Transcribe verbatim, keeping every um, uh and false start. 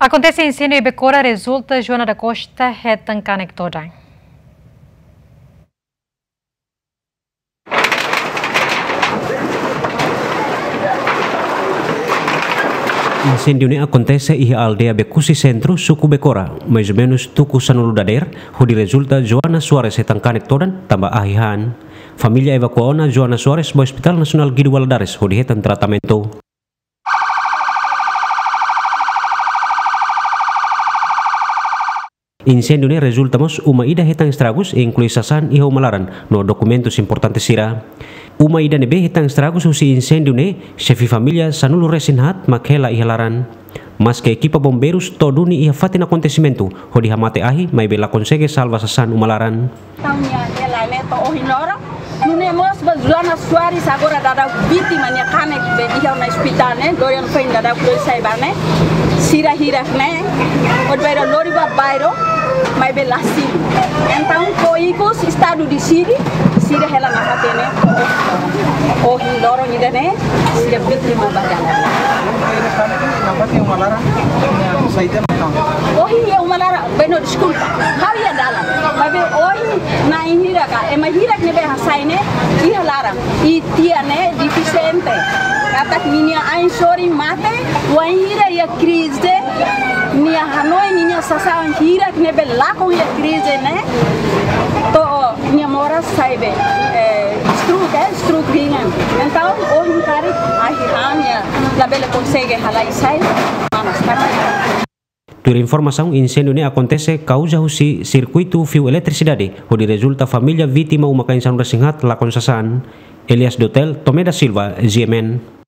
Akontese inséndiu iha Becora rezulta Joana da Costa hetan kanek todan. Inséndiu ne'e akontese iha aldeia Becusi Sentru, suku Becora, mais ou menus tuku sanulu dadeer, hodi rezulta Joana Soares hetan kanek todan, tanba ahi han. Família evakua ona Joana Soares ba Hospital Nasionál Guido Valadares hodi hetan tratamentu. Inséndiu ne'e rezulta mós uma ida hetan estragus, inklui sasán iha uma laran no dokumentus importante sira. Uma ida ne'ebé hetan estragus husi inséndiu ne'e, xefe família sanulu resin haat mak hela iha laran. Maske ekipa bombeirus to'o duni iha fatin akontesimentu hodi hamate ahi, maibé la konsege salva sasán uma laran. Entaun nia hela ne'e to'o ohin loron. Nune'e mós ba Joana Soares agora daudaun vítima nia kanek be iha ona ospitál ne'e, Dorian Fain daudaun kloi sai ba ne'e. Sira hirak ne'e, hodi bairru lori ba bairru, maibé la simu. Entaun, to'o ikus estadu deside, sira hela nafatin ne'e. Ohin loron ida-ne'e, sira vítima ba dalan. Ohin iha uma laran, beno, deskulpa. Ha'u iha dalan. Maibé ohin na'in hira ka, ema hirak ne'ebé hasai ne'e, iha laran. I tia ne'e defisiente. Katak ninia ain sorin mate, wainhira iha krize, nia hanoin ninia sasán hirak ne'ebé lakon iha krize ne'e, to'o nia moras sai be, eh, stroke, eh, stroke ringan. Entaun, ohin karik, ahi han nia labele konsege halai sai, manas katak. Tuir informasaun, inséndiu ne'e akontese kauza husi sirkuitu fiu eletrisidade, hodi rezulta família vítima uma kain sanulu resin haat lakon sasán. Elias Dotel, Tomé da Silva, G M N.